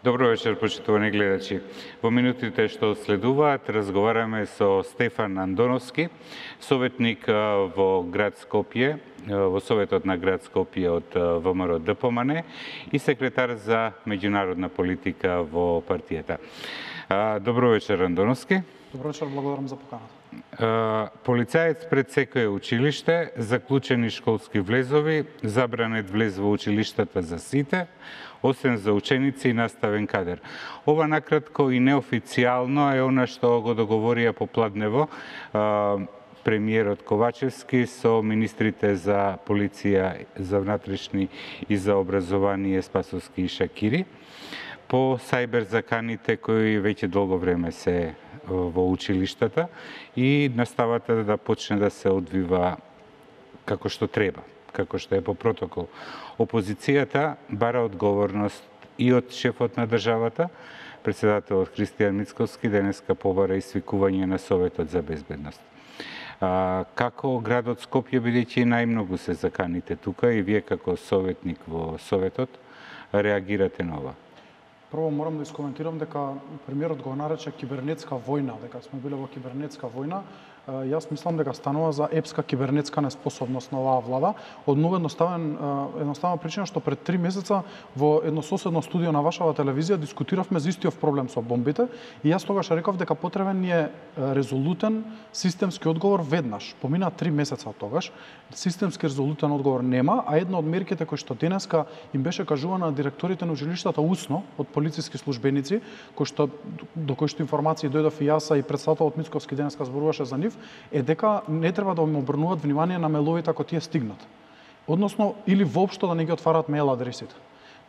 Добро вечер, почитувани гледачи. Во минутите што следуваат, разговараме со Стефан Андоновски, советник во град Скопје, во Советот на град Скопје од ВМРО ДПМН и секретар за меѓународна политика во партијата. Добро вечер, Андоновски. Добро вечер, благодарам за поканата. Полицаец пред секое училиште, заклучени школски влезови, забранет влез во училиштата за сите, освен за ученици и наставен кадер. Ова накратко и неофицијално е она што го договорија попладнево премиерот Ковачевски со министрите за полиција, за внатрешни и за образование Спасовски и Шакири по сајбер заканите кои веќе долго време се во училиштата и наставата да почне да се одвива како што треба, како што е по протокол. Опозицијата бара одговорност и од шефот на државата, председателот Христијан Мицковски денеска побара извикување на Советот за безбедност. Како градот Скопје, бидејќи најмногу се заканите тука и вие како советник во Советот, реагирате на ова? Прво морам да искоментирам дека премиерот го нарече кибернетска војна, дека сме биле во кибернетска војна. Јас мислам дека станува за епска кибернетска неспособност на оваа влада. Од многу едноставна причина што пред 3 месеца во едно соседно студио на вашава телевизија дискутиравме за истиот проблем со бомбите и јас тогаш реков дека потребен ни е резолутен системски одговор веднаш. Помина 3 месеца од тогаш, системски резолутен одговор нема, а една од мерките кои што денеска им беше кажувана на директорите на училиштата усно од полициски службеници, до кои што информации дојдов и јас и председателот Мицковски денеска зборуваше за нив, е дека не треба да им обрнуваат внимание на мейловите ако тие стигнат. Односно, или воопшто да не ги отварат мейл адресите.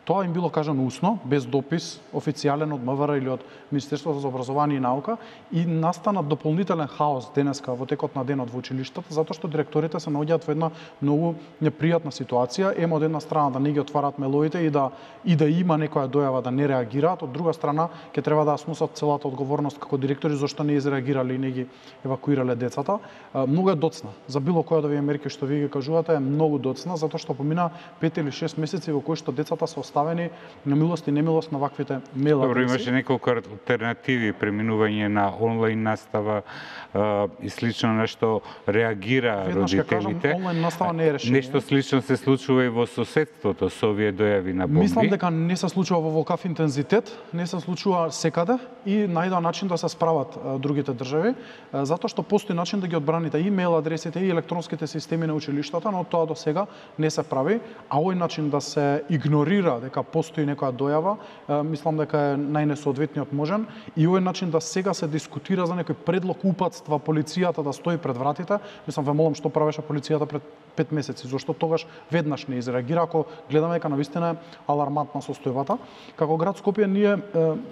Тоа им било кажано усно, без допис, официјален од МВР или од Министерството за образование и наука, и настана дополнителен хаос денеска во текот на денот во училиштата, затоа што директорите се наоѓаат во една многу непријатна ситуација, од една страна да не ги отварат мейловите и да има некоја дојава да не реагираат, од друга страна ќе треба да сносат целата одговорност како директори зашто не изреагирале и не ги евакуирале децата. Многу е доцна. За било која од овие мерки што ви ги кажувате е многу доцна, затоа што помина 5 или 6 месеци во кои што децата се оставени на милост и немилост на ваквите мейл адреси. Добро, имаше неколку алтернативи, преминување на онлайн настава и слично на што реагира родителите. Онлайн настава не е решение. Нешто слично се случува и во соседството со овие дојави на бомби. Мислам дека не се случува во ваков интензитет, не се случува секаде и најдоа начин да се справат другите држави, затоа што постои начин да ги одбраните и мейл адресите и електронските системи на училиштата, но тоа до сега не се прави, а овој начин да се игнорира дека постои некоја дојава, мислам дека е најнесоодветниот можен и овој начин да сега се дискутира за некој предлог упатства полицијата да стои пред вратите. Мислам, ве молам што правеше полицијата пред 5 месеци, зашто тогаш веднаш не изреагира, ако гледаме дека навистина е алармантна состојбата. Како град Скопје ние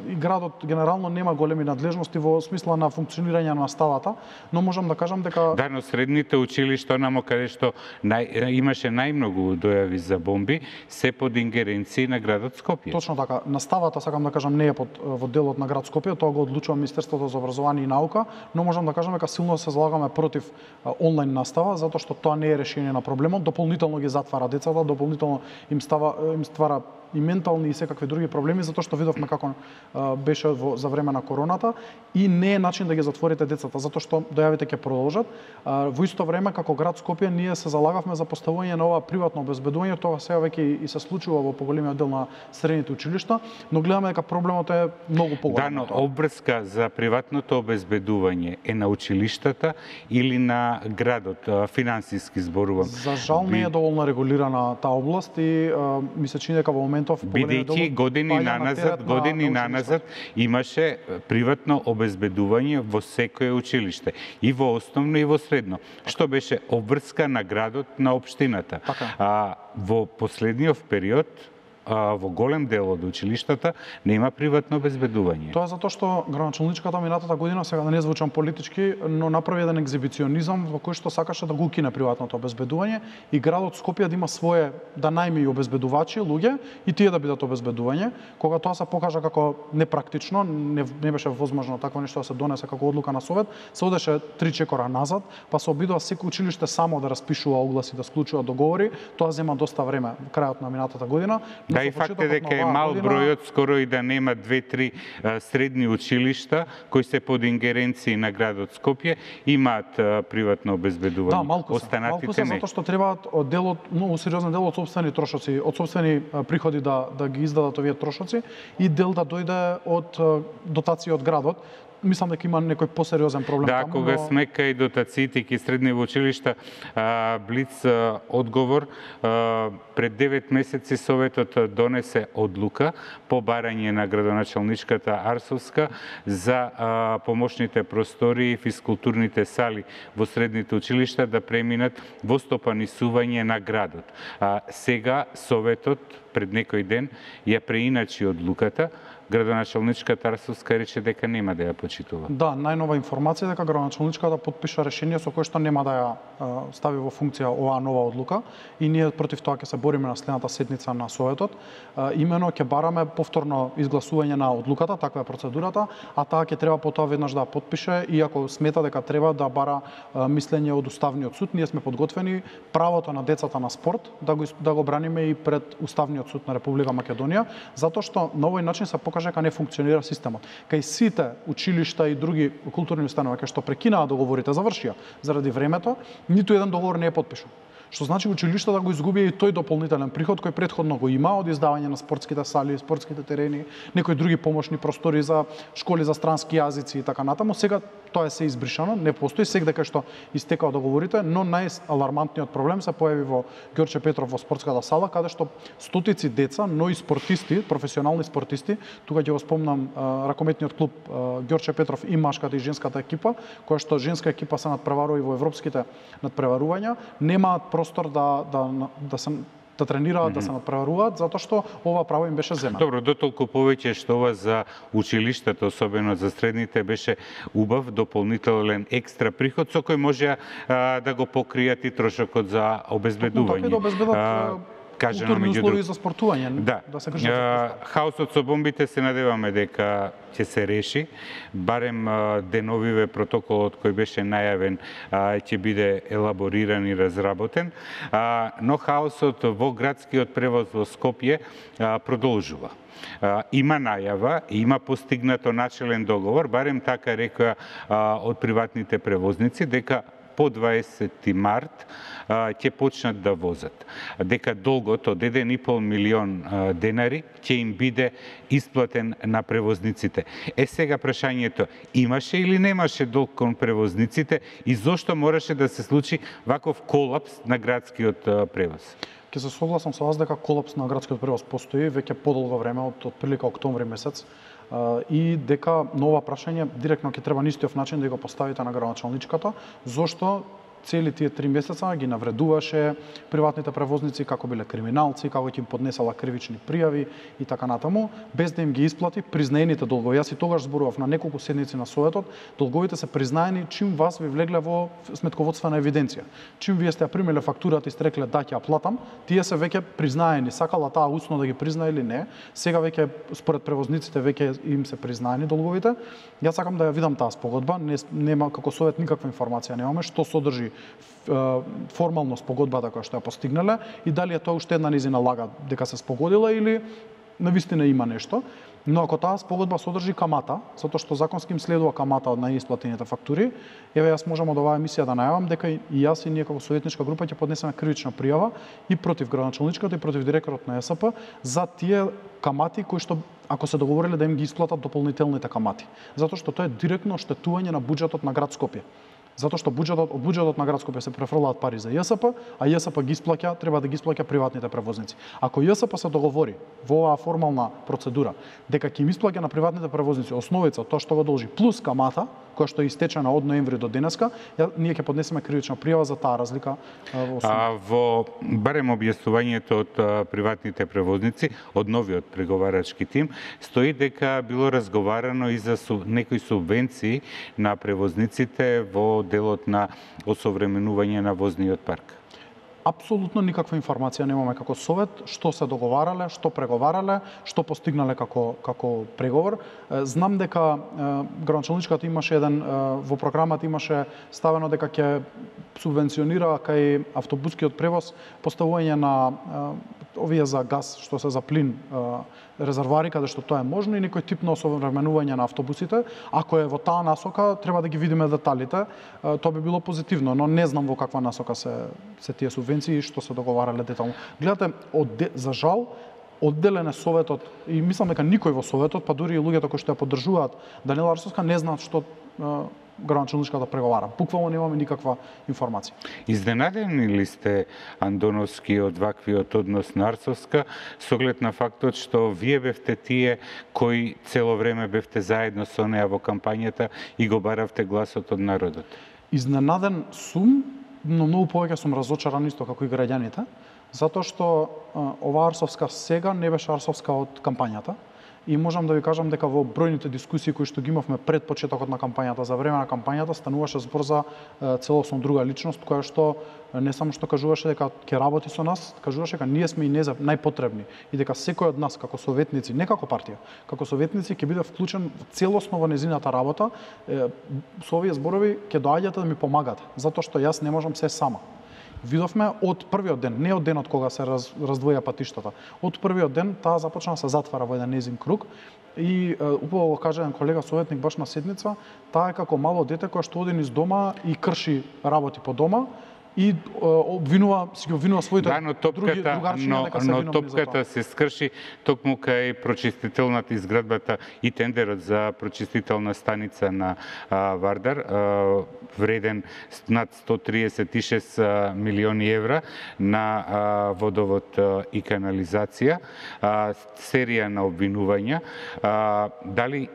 и градот генерално нема големи надлежности во смисла на функционирање на наставата, но можам да кажам дека да, но средните училишта, онамо каде што имаше најмногу дојави за бомби, се под ингеренција на градот Скопје. Точно така. Наставата, сакам да кажам, не е во делот на град Скопје, тоа го одлучува Министерството за образование и наука, но можам да кажам дека силно се залагаме против онлайн настава, затоа што тоа не е решение на проблемот, дополнително ги затвара децата, дополнително им ствара и ментални и секакви други проблеми, затоа што видовме како беше за време на короната и не е начин да ги затворите децата, затоа што дојавите ќе продолжат. Во исто време, како град Скопје, ние се залагавме за поставување на ова приватно обезбедување, тоа сега веќе и се случува во поголемиот дел на средните училишта, но гледаме дека проблемот е многу поголем. Да, но обврска за приватното обезбедување е на училиштата или на градот, финансиски зборувам? За жал не е доволно регулирана таа област и ми се чини дека во моментов бидејќи години наназад имаше приватно обезбедување во секое училиште, и во основно и во средно, што беше обврска на градот на општината. Во последниот период во голем дел од училиштата нема приватно обезбедување. Тоа затоа што градоначалничката минатата година, сега да не звучам политички, но направи еден екзибиционизам во кој што сакаше да го укине приватното обезбедување и градот Скопје да има свое, да најми обезбедувачи, луѓе, и тие да бидат обезбедување. Кога тоа се покажа како непрактично, не беше возможно такво нешто да се донесе како одлука на совет, се одеше 3 кора назад, па се обидува секој училиште само да распишува огласи, да склучува договори. Тоа зема доста време во крајот на минатата година. Да, и факт е дека е мал бројот, скоро и да нема 2-3 средни училишта кои се под ингеренции на градот Скопје, имаат приватно обезбедување. Да, малку се, не. затоа што требаат делот, многу сериозен дел од сопствени трошоци, од сопствени приходи да ги издадат овие трошоци и дел да дојде од дотации од градот. Мислам дека има некој посериозен проблем таму. Да, кога сме кај дотациите ки средни училишта, Блиц одговор, пред 9 месеци Советот донесе одлука по барање на градоначалничката Арсовска за помошните простори и физкултурните сали во средните училишта да преминат во стопанисување на градот. Сега Советот пред некој ден ја преиначи одлуката, градоначалничката Арсовска рече дека нема да ја почитува. Да, најнова информација дека градоначалничката потпиша решение со кое што нема да ја стави во функција оваа нова одлука и ние против тоа ќе се бориме на следната седница на Советот. Имено ќе бараме повторно изгласување на одлуката, таква е процедурата, а таа ќе треба потоа веднаш да ја потпише и ако смета дека треба да бара мислење од Уставниот суд, ние сме подготвени правото на децата на спорт да го браниме и пред Уставниот суд на Република Македонија, затоа што на овој начин се покажа дека не функционира системот. Кај сите училишта и други културни установи кај што прекинаа договорите, завршија заради времето, ниту еден договор не е потпишан. Што значи училиштата го изгубија и тој дополнителен приход кој претходно го има од издавање на спортските сали, спортските терени, некои други помошни простори за школи за странски јазици и така натаму. Сега тоа се избришано, не постои сега дека што истекаа договорите, но најалармантниот проблем се појави во Ѓорче Петров во спортската сала, каде што стотици деца, но и спортисти, професионални спортисти, тука ќе го спомнам ракометниот клуб Ѓорче Петров и машката и женската екипа, која што женска екипа се надпреварува и во европските надпреварувања, немаат простор да тренираат, да се надпреваруваат, затоа што ова право им беше земено. Добро, дотолку повеќе што ова за училиштата, особено за средните, беше убав дополнителен екстра приход со кој може да го покријат и трошокот за обезбедување. Така да обезбедат културни услови за спортување, да се грижат. Хаосот со бомбите се надеваме дека ќе се реши, барем деновиве протоколот кој беше најавен ќе биде елабориран и разработен, но хаосот во градскиот превоз во Скопје продолжува. Има најава, има постигнато начелен договор, барем така рекоа од приватните превозници, дека по 20 март ќе почнат да возат. Дека долгот од 1,5 милион денари ќе им биде исплатен на превозниците. Сега прашањето, имаше или немаше долг кон превозниците и зошто мораше да се случи ваков колапс на градскиот превоз? Ќе се согласам со вас дека колапс на градскиот превоз постои веќе подолго време, од прилика октомври месец, и дека нова прашање директно ќе треба на истиот начин да го поставите на градоначалничката, зошто цели тие 3 месеца ги навредуваше приватните превозници како биле криминалци, како ќе им поднесала кривични пријави и така натаму, без да им ги исплати признаените долгови. Јас и тогаш зборував на неколку седници на Советот, долговите се признаени чим вас ви влегле во сметководствена евиденција. Чим вие сте ја примиле фактурата и сте рекле да ќе ја платам, тие се веќе признаени. Сакала таа усно да ги признае или не, сега веќе според превозниците веќе им се признаени долговите. Јас сакам да ја видам таа спогодба, нема како Совет никаква информација немаме што содржи формално спогодбата која што ја постигнале и дали е тоа уште една низина лага дека се спогодила или навистина има нешто. Но ако таа спогодба содржи камата, затоа што законски им следува камата од неисплатените фактури, еве јас можам од оваа емисија да најавам дека и јас и ние како советничка група ќе поднесеме кривична пријава и против градоначалничката и против директорот на ЕСП за тие камати кои што ако се договориле да им ги исплатат дополнителните камати. Затоа што тоа е директно оштетување на буџетот на град Скопје. Затоа што од буџетот на град Скопје се префрлаат пари за ЈСП, а ЈСП ги исплаќа, треба да ги исплаќа приватните превозници. Ако ЈСП се договори во оваа формална процедура дека ќе им исплаќа на приватните превозници основица тоа што го должи плюс камата, која што е истечена од ноември до денеска, ние ќе поднесеме кривична пријава за таа разлика во сумата. Во барем објаснувањето од приватните превозници, од новиот преговарачки тим, стои дека било разговарано и за некои субвенции на превозниците во делот на осовременување на возниот парк. Апсолутно никаква информација немаме како Совет, што се договарале, што преговарале, што постигнале како преговор. Знам дека градоначалничката имаше во програмата имаше ставено дека ќе субвенционира кај автобускиот превоз поставување на овие за газ, што се за плин, резервоари каде што тоа е можно и некој тип на осовременување на автобусите. Ако е во таа насока, треба да ги видиме деталите. Тоа би било позитивно, но не знам во каква насока се тие субвенции и што се договарале детално. Гледате, за жал, одделен е Советот и мислам дека никој во Советот, па дури и луѓето кои што ја поддржуваат Даниела Арсовска, не знаат што градоначалничката преговара. Буквално немаме никаква информација. Изненадени ли сте, Андоновски, од ваквиот однос на Арсовска, со оглед на фактот што вие бевте тие кои цело време бевте заедно со неа во кампањата и го баравте гласот од народот? Изненаден сум, но многу повеќе сум разочаран исто како и граѓаните, затоа што ова Арсовска сега не беше Арсовска од кампањата. И можам да ви кажам дека во бројните дискусии кои што ги имавме пред почетокот на кампањата, за време на кампањата, стануваше збор за целосно друга личност, која што не само што кажуваше дека ќе работи со нас, кажуваше дека ние сме и најпотребни и дека секој од нас како советници, не како партија, како советници ќе биде вклучен целосно во незината работа. Со овие зборови ќе доаѓате да ми помагате, затоа што јас не можам се сама. Видовме од првиот ден, не од денот кога се раздвоја патиштата. Од првиот ден таа започна да се затвара во еден незин круг и убаво го кажа еден колега советник баш на седница, таа е како мало дете кое што оди низ дома и крши работи по дома и обвинува своите другарчиња дека се виновни за тоа. Но топката се скрши токму кај прочистителната изградбата и тендерот за прочистителна станица на Вардар, вреден над 136 милиони евра на водовод и канализација, серија на обвинувања. Дали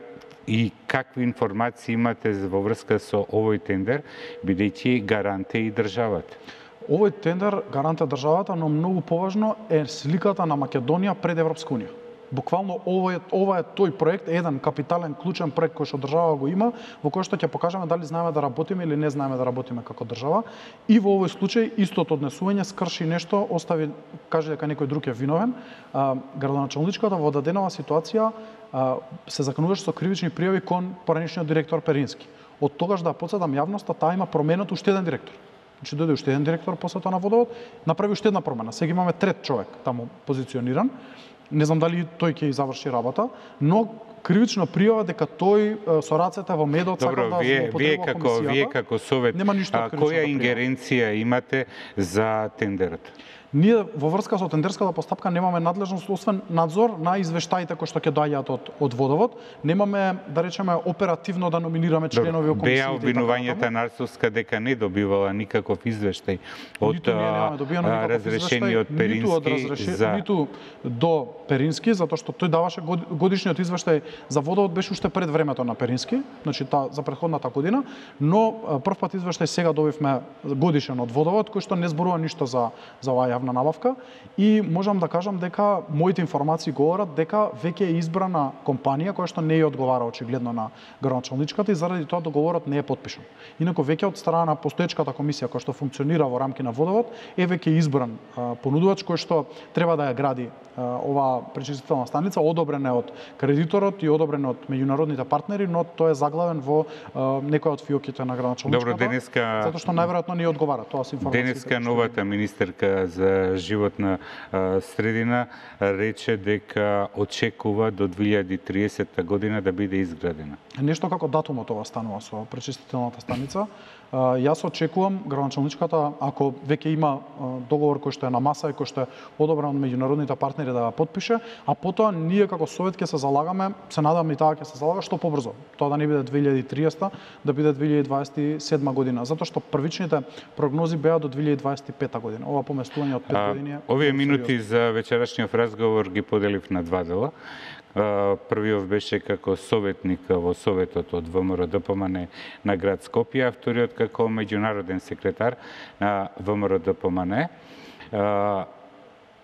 и какви информации имате во врска со овој тендер, бидејќи гарант е и државата? Овој тендер гарант е државата, но многу поважно е сликата на Македонија пред Европска унија. Буквално ова е тој проект, еден капитален клучен проект кој што држава го има, во кој што ќе покажеме дали знаеме да работиме или не знаеме да работиме како држава. И во овој случај истото однесување скрши нешто, каже дека некој друг е виновен. Градоначалничката во даденава ситуација се закануваше со кривични пријави кон поранешниот директор Перински. Од тогаш да потсетам јавноста, таа има променет уште еден директор. Значи дојде уште еден директор после тоа на водовод, направи уште една промена. Сега имаме трет човек таму позициониран. Не знам дали тој ќе заврши работа, но кривична пријава дека тој со рацете во медот сака да злоупотребува комисијата. Вие како совет, која ингеренција имате за тендерот? Ние во врска со тендерската постапка немаме надлежност освен надзор на извештаите кои што ќе доаѓаат од водовод. Немаме, да речеме, оперативно да номинираме членови во комисиите. Беа обвинувањата на Арсовска дека не добивала никаков извештај од разрешение од Перински ниту до Перински, затоа што тој даваше годишниот извештај за водовод беше уште пред времето на Перински, значи за претходната година, но првпат извештај сега добивме годишен од водовод кој што не зборува ништо за оваа јавна набавка и можам да кажам дека моите информации говорат дека веќе е избрана компанија која што не ја одговара очигледно на градоначалничката и заради тоа договорот не е потпишан. Инаку веќе од страна на постоечката комисија која што функционира во рамки на водовод е веќе избран понудувач кој што треба да ја гради оваа пречистителна станица, одобрен е од кредиторот и одобрен од меѓународните партнери, но тој е заглавен во некој од фиоките на градоначалничката. Добро, денеска затоа што најверојатно не одговара, тоа се информации. Денеска новата министерка за животна средина рече дека очекува до 2030 година да биде изградена. Нешто како датумот ова станува со пречистителната станица. Јас очекувам градоначалничката, ако веќе има договор кој што е на маса и кој што е одобрен од меѓународните партнери да ја потпише, а потоа ние како совет ќе се залагаме, се надам и таа ќе се залага што побрзо. Тоа да не биде 2030, да биде 2027 година, затоа што првичните прогнози беа до 2025 година. Ова поместување од 5 години. Овие минути за вечерашниот разговор ги поделив на два дела. Првиот беше како советник во Советот од ВМРО-ДПМН на град Скопје, а вториот како меѓународен секретар на ВМРО-ДПМН.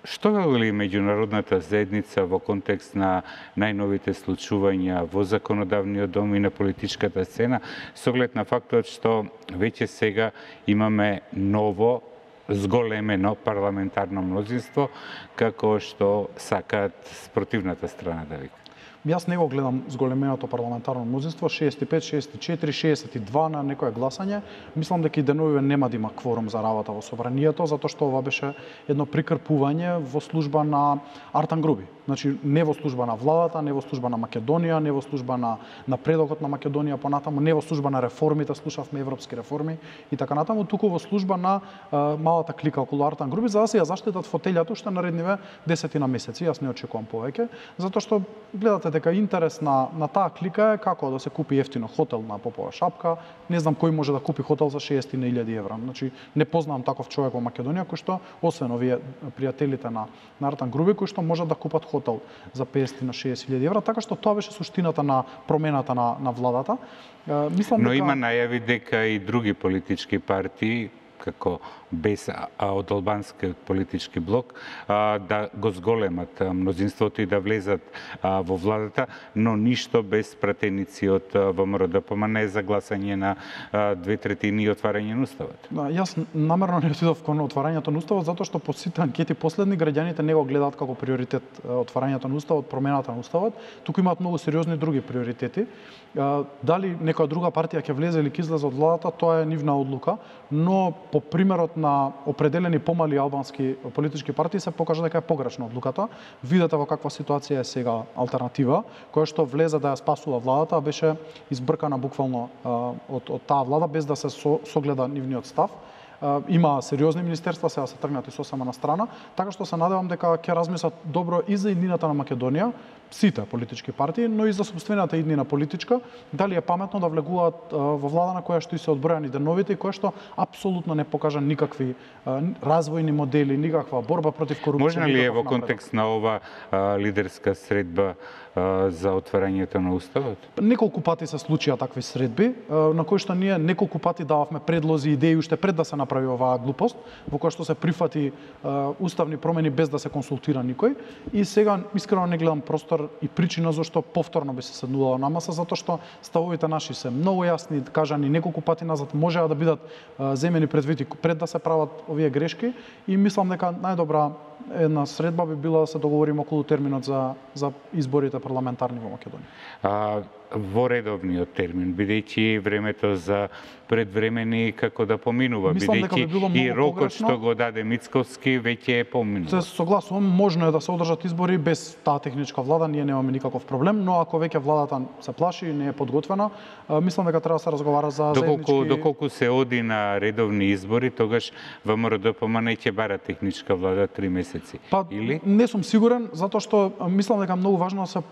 Што вели меѓународната заедница во контекст на најновите случувања во законодавниот дом и на политичката сцена, со оглед на фактот што веќе сега имаме ново зголемено парламентарно мнозинство, како што сакаат спротивната страна да вика? Јас не го гледам зголеменото парламентарно мнозинство, 65, 64, 62 на некое гласање. Мислам дека и деновиве нема да има кворум за работа во собранието, затоа што ова беше едно прикрпување во служба на Артан Груби. Значи, не во служба на владата, не во служба на Македонија, не во служба на напредокот на Македонија понатаму, не во служба на реформите, слушавме европски реформи и така натаму, туку во служба на малата клика околу Артан Груби, за да се ја заштитат фотелјата уште наредниве 10 месеци. Јас не очекувам повеќе, затоа што гледате дека интерес на таа клика е како да се купи ефтино хотел на Попова шапка. Не знам кој може да купи хотел за 60.000 евра. Значи, не познавам таков човек во Македонија кој што, освен овие пријателите на Артан Груби, кои што можат да купат хотел за 50 на 60.000 евра, така што тоа беше суштината на промената на владата. Мислам Но дека има најави дека и други политички партии како без од албанскиот политички блок да го зголемат мнозинството и да влезат во владата, но ништо без пратеници од ВМРО-ДПМН не е за гласање на 2/3 и отварање на уставот. Да, јас намерно не отидов кон отварањето на уставот затоа што по сите анкети последни граѓаните не го гледаат како приоритет отварањето на уставот, промената на уставот, туку имаат многу сериозни други приоритети. Дали некоја друга партија ќе влезе или ќе излезе од владата, тоа е нивна одлука, но по примерот на определени помали албански политички партии се покажа дека е погрешна одлуката. Видете во каква ситуација е сега алтернатива, која што влезе да ја спасува владата, беше избркана буквално од таа влада без да се согледа нивниот став. Има сериозни министерства, сега се тргнати сосема на страна, така што се надевам дека ќе размислат добро и за иднината на Македонија, сите политички партии, но и за собствената иднина политичка, дали е паметно да влегуваат во влада на која што и се одбројани деновите и која што апсолутно не покажа никакви развојни модели, никаква борба против корупција. Може ли е во контекст на ова лидерска средба за отварањето на уставот? Неколку пати се случија такви средби, на кои што ние неколку пати дававме предлози и идеи уште пред да се направи оваа глупост, во која што се прифати уставни промени без да се консултира никој. И сега искрено не гледам простор и причина зашто повторно би се седнувало на маса, затоа што ставовите наши се многу јасни, кажани неколку пати назад, можеа да бидат земени предвид пред да се прават овие грешки и мислам дека најдобра една средба би била да се договориме околу терминот за изборите парламентарни во Македонија. Во редовниот термин, бидејќи времето за предвремени како да поминува, бидејќи и рокот што го даде Мицковски веќе е поминува. Се согласувам, можно е да се одржат избори без таа техничка влада, ние немаме никаков проблем, но ако веќе владата се плаши и не е подготвена, мислам дека треба да се разговара за заеднички... Доколку се оди на редовни избори, тогаш ВМРО-ДПМН ќе бара техничка влада 3 месеци, или? Не сум сигурен, затоа што мислам дека многу важно да се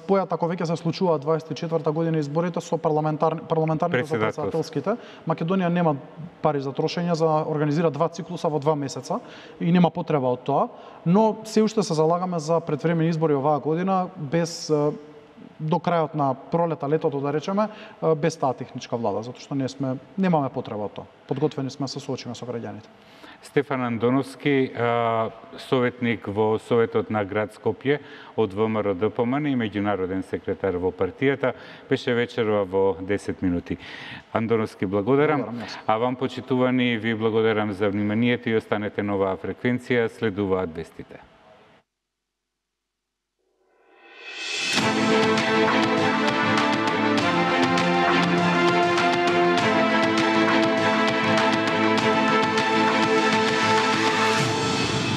спојат, ако веќе се случува 24-та година изборите со парламентарните за председателските. Македонија нема пари за трошење за организира 2 циклуса во 2 месеца и нема потреба од тоа, но се уште се залагаме за предвремени избори оваа година без до крајот на пролета, летото да речеме, без таа техничка влада, затоа што немаме потреба од тоа. Подготвени сме се соочиме со граѓаните. Стефан Андоновски, советник во Советот на град Скопје од ВМРО-ДПМН и меѓународен секретар во партијата, беше вечерва во 10 минути. Андоновски, благодарам. А вам, почитувани, ви благодарам за вниманието и останете на оваа фреквенција, следуваат вестите.